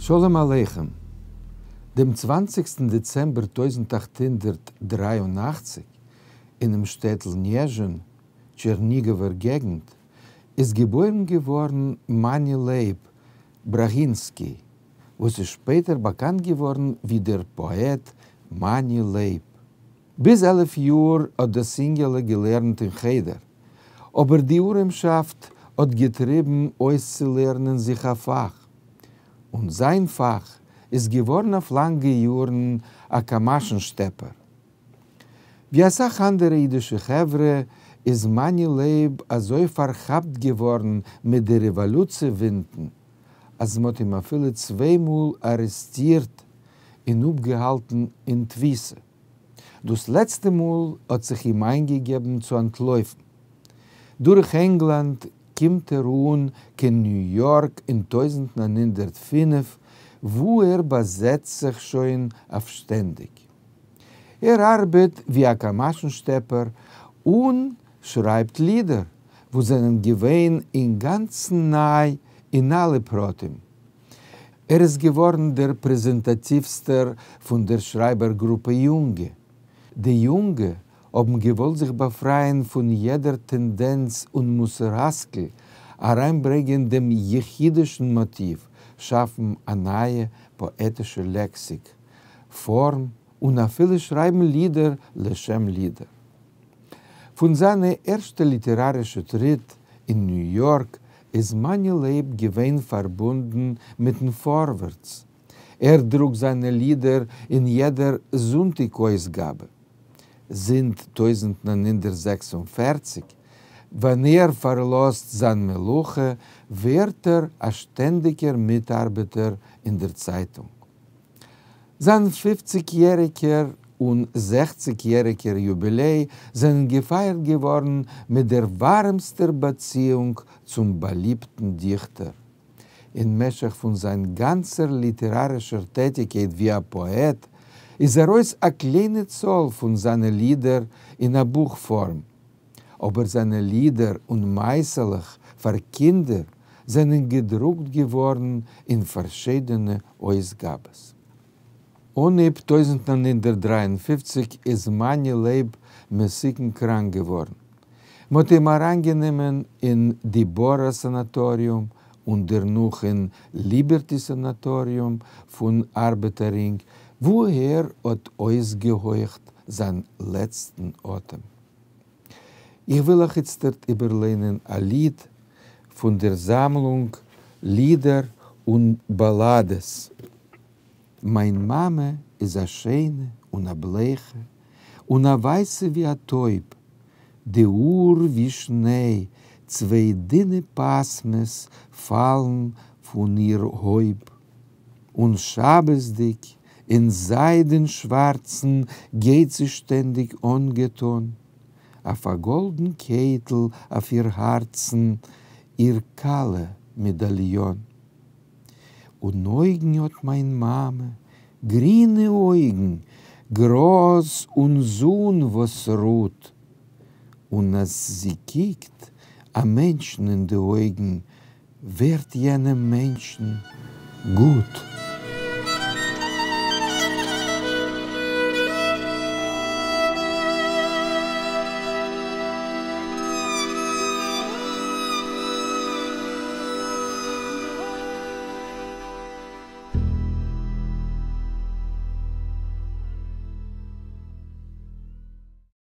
שלום עליכם! דעם צוואנציגסטן דעצעמבער 1883, אינעם שטעטל ניעזשין, טשערניגאווער געגנט, איז געבוירן געווארן מאני לייב בראהינסקי, וואס איז שפעטער באקאנט געווארן ווי דער פאעט מאני לייב. ביז 11 יאר האט דאס אינגעלע געלערנט אין חדר, אבער די ארעמשאפט האט געטריבן אויסצולערנען זיך א פאך, און זיין פאך איז געווארן אויף לאנגע יארן א קאמאשן שטעפער. ווי אסאך אנדערע אידישע חברה איז מאני לייב אזוי פארכאפט געווארן מיט די רעוואלוציע ווינטן, אז מ'האט אים אפילו צוויי מאל ארעסטירט און אפגעהאלטן אין תפיסה. דאס לעצטע מאל האט זיך אים איינגעגעבן צו אנטלויפן. דורך ענגלאנד קומט ער אן קיין ניו יארק אין 1905, וואו ער באזעצט זיך שוין אויף שטענדיג. ער ארבעט ווי א קאמאשן שטעפער און שרייבט לידער וואס זענען געווען אינגאנצן ניי אין אלע פרטים. ער איז געווארן דער רעפרעזענטאטיווסטער פון דער שרייבער גרופע יונגע. די יונגע האבן געוואלט זיך באפרייען פון יעדער טענדענץ און מוסר השכל, אריינברענגען דעם יחידישן מאטיוו, שאפן א נייע פאעטישע לעקסיק, פארם און אפילו שרייבן לידער לשם לידער. פון זיינע ערשטע ליטערארישע טריט אין ניו יארק איז מאני לייב געווען פארבונדן מיטן פארווערטס. ער דרוקט זיינע לידער אין יעדער זונטיק אויסגאבע. זינט 1946, ווען ער פארלאזט זיין מלאכה, ווערט ער א שטענדיגער מיטארבעטער אין דער צייטונג. זיין 50-יעריגער און 60-יעריגער יוביליי זענען געפייערט געווארן מיט דער ווארעמסטער באציאונג צום באליבטן דיכטער. אין משך פון זיין גאנצער ליטערארישער טעטיקייט ווי א פאעט, איז ארויס א קליינע צאל פון זיינע לידער אין א בוך פארם. אבער זיינע לידער און מעשה'לעך פאר קינדער זענען געדרוקט געווארן אין פארשידענע אויסגאבעס. אנהייב 1953 איז מאני לייב מסוכן קראנק געווארן. מ'האט אים אריינגענומען אין דיבורה סאנאטאריום און דערנאך אין ליבערטי סאנאטאריום פון ארבעטער רינג, וואו ער האט אויסגעהויכט זיין לעצטן אטעם. איך וויל אייך איצטערט איבערליינען א ליד פון דער זאמלונג לידער און באלאדעס. מיין מאמע איז א שיינע און א בלייכע, און א ווייסע ווי א טויב, די האר ווי שניי, צוויי דינע פאסמעס פאלן פון איר הויב, און שבת'דיג אין זיידן שווארצן גייט זי שטענדיג אנגעטון, אויף א גאלדן קעטל אויף איר הארצן איר כלה מעדאליאן. און אויגן האט מיין מאמע, גרינע אויגן, גראז און זון וואס רוט, און אז זי קוקט א מענטשן אין די אויגן, ווערט יענעם מענטשן גוט.